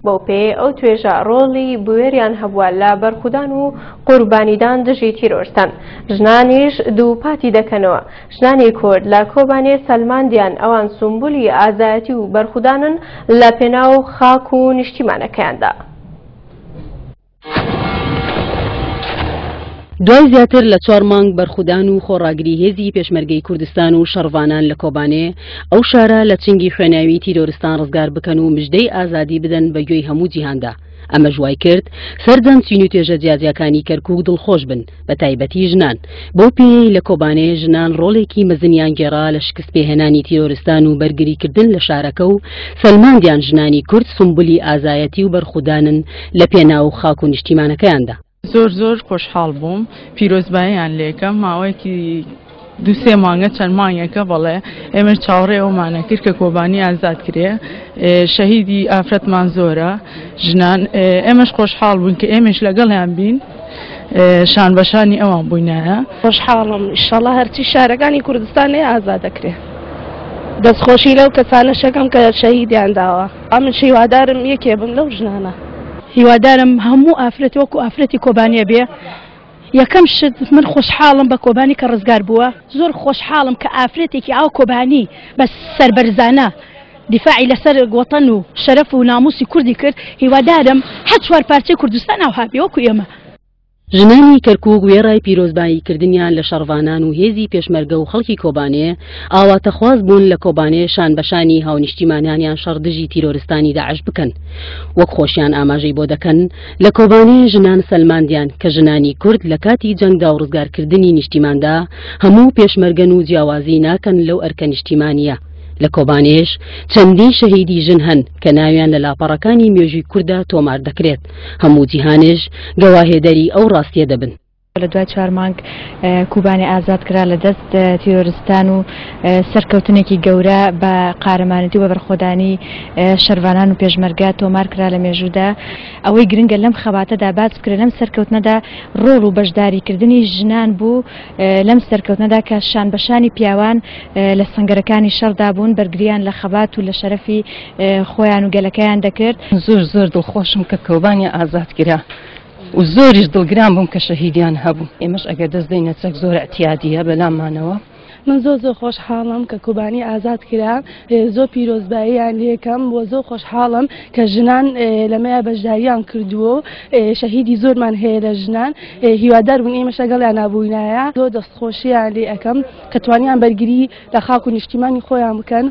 بەو پێیەی ئەو توێژە ڕۆڵی بوێریان هەبووە لە بەرخودان و قوربانیدان دژی تیرۆرستان. ژنانیش دووپاتی دەکەنەوە، ژنانی کورد لە کۆبانێ سەلماندیان ئەوان سومبولی ئازایەتی و بەرخودانن لە پێناو خاک و نیشتیمانەکەیاندا. دوای زیاتر لە چوار مانگ بەرخودان و خۆڕاگری هێزی پێشمەرگەی کوردستان و شەڕڤانان لە کۆبانێ، ئەو شارە لە چنگی خوێناوی تیرۆرستان ڕزگار بکەن و مژدەی ئازادی بدەن بە گوێی هەموو جیهاندا. ئەمەش وای کرد سەرجەم چین و توێژە جیاجیاکانی کەرکووک دڵخۆش بن، بە تایبەتی ژنان، بەو پێیەی لە کۆبانێ ژنان ڕۆڵێکی مەزنیان گێڕا لە شکستپێهێنانی تیرۆرستان و بەرگریکردن لە شارەکە و سەلماندیان ژنانی کورد سومبولی ئازایەتی و بەرخودانن لە پێناو خاک و نیشتیمانەکەیاندا. زۆر زۆر خۆشحاڵ بووم پیرۆزباییان لێکەم ماوەیەکی دوو سێ مانگە چەند مانگێکە بەڵێ ئێمە چاوەڕێ ئەومانە کرد کە کۆبانی ئازاد کرێ شەهیدی ئافرەتمان زۆرە ژنان ئێمەش خۆشحاڵ بوون کە ئێمەش لەگەڵیان بین شان بەشانی ئەوان بووینایە. خۆشحاڵم ئیشەڵا هەرچی شارەکانی کوردستان هەیە ئازاد دەکرێ دەستخۆشی لەو کەسانەشەکەم کە شەهیدیان داوە. ئەمنش هیوادارم یەکێ بم لەو ژنانە. هیوادارم هەموو ئافرەت وەکو ئافرەتی کۆبانێ بێ یەکەم شت من خۆشحاڵم بە کۆبانی کە ڕزگار بووە زۆر خۆشحاڵم کە ئافرەتێکی ئاو کۆبانی بە سەربەرزانە دیفاعی لەسەر وەتەن و شەرەف و ناموسی کوردی کرد هیوادارم هەر چوار پارچەی کوردستان ئاوها بێ وەکو ئێمە. ژنانی کەرکوک وێڕای پیرۆزبایی کردنیان لە شەڕڤانان و هێزی پێشمەرگە و خەڵکی کۆبانێ، ئاواتەخواز بوون لە کۆبانێ شان بەشانی هاونیشتیمانانیان شەڕ دژی تیرۆرستانی داعش بکەن. وەک خۆشیان ئاماژەی بۆ دەکەن، لە کۆبانێ ژنان سەلماندیان کە ژنانی کورد لە کاتی جەنگدا و ڕزگارکردنی نیشتیماندا هەموو پێشمەرگەن و جیاوازی ناکەن لەو ئەرکە نیشتیمانییە. لە کۆبانێش چەندین شەهیدی ژن هەن کە ناویان لە لاپەڕەکانی مێژووی کورددا تۆمار دەکرێت، هەموو جیهانێش گەواهێدەری ئەو ڕاستیە دەبن. لە دوای چوار مانگ کوبانێ ئازاد کرا لە دەست تیرۆرستان و سەرکەوتنێکی گەورە بە قارەمانێتی و بە بەرخۆدانی شەرڤانان و پێشمەرگە تۆمار کرا لە مێژوودا. ئەوەی گرنگە لەم خەباتەدا باس بکرێت لەم سەرکەوتنەدا ڕۆڵ و بەشداریکردنی ژنان بوو لەم سەرکەوتنەدا کە شان بە شانی پیاوان لە سەنگەرەکانی شەڕدا بوون، بەرگرییان لە خەبات و لە شەرەفی خۆیان و گەلەکەیان دەکرد. زۆر زۆر دڵخۆشم کە کۆبانێ ئازاد کرا و زۆریش دڵگران بووم کە شەهیدیان هەبوو. ئێمەش ئەگەر دەست دەینە چەک زۆر ئیعتیادییە بەلامانەوە. من زۆر زۆر خۆشحاڵم کە کۆبانی ئازاد کرا، زۆر پیرۆزباییان لێکەم و زۆر خۆشحاڵم کە ژنان لەمەیا بەشداریان کردووە و شەهیدی زۆرمان هەیە لە ژنان، هیوادار بووین ئێمەش لەگەڵیانا بووینایە. زۆر دەستخۆشییان لێ ئەکەم کە توانیان بەرگری لە خاک و نیشتیمانی خۆیان بکەن.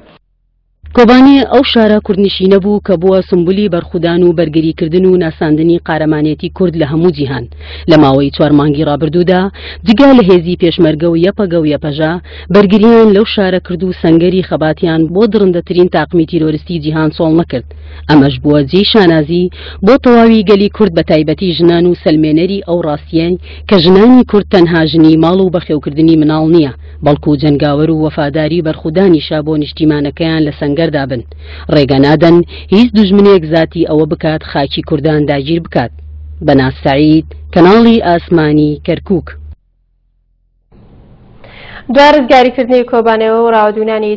کۆبانێ ئەو شارە کوردنشینە بوو کە بووە سومبولی بەرخودان و بەرگریکردن و ناساندنی قارەمانێتی کورد لە هەموو جیهان. لە ماوەی چوار مانگی ڕابردوودا جگە لە هێزی پێشمەرگە و یەپەگە و یەپەژە بەرگرییان لەو شارە کرد و سەنگەری خەباتیان بۆ دڕندەترین تاقمی تیرۆرستی جیهان چۆڵ نەکرد. ئەمەش بووە جێی شانازی بۆ تەواوی گەلی کورد بە تایبەتی ژنان و سەلمێنەری ئەو ڕاستییەی کە ژنانی کورد تەنها ژنی ماڵ و بەخێوکردنی مناڵ نییە بەڵکو جەنگاوەر و وەفاداری بەرخودانیشە بۆ نیشتیمانەکەیان لە سەنگەردا بن ڕێگە نادەن هیچ دوژمنێک زاتی ئەوە بکات خاکی کوردان داگیر بکات. بەناز سەعید، کەناڵی ئاسمانی کەرکوک. دوای ڕزگاریکردنی کۆبانێ و ڕاوەدوونانی.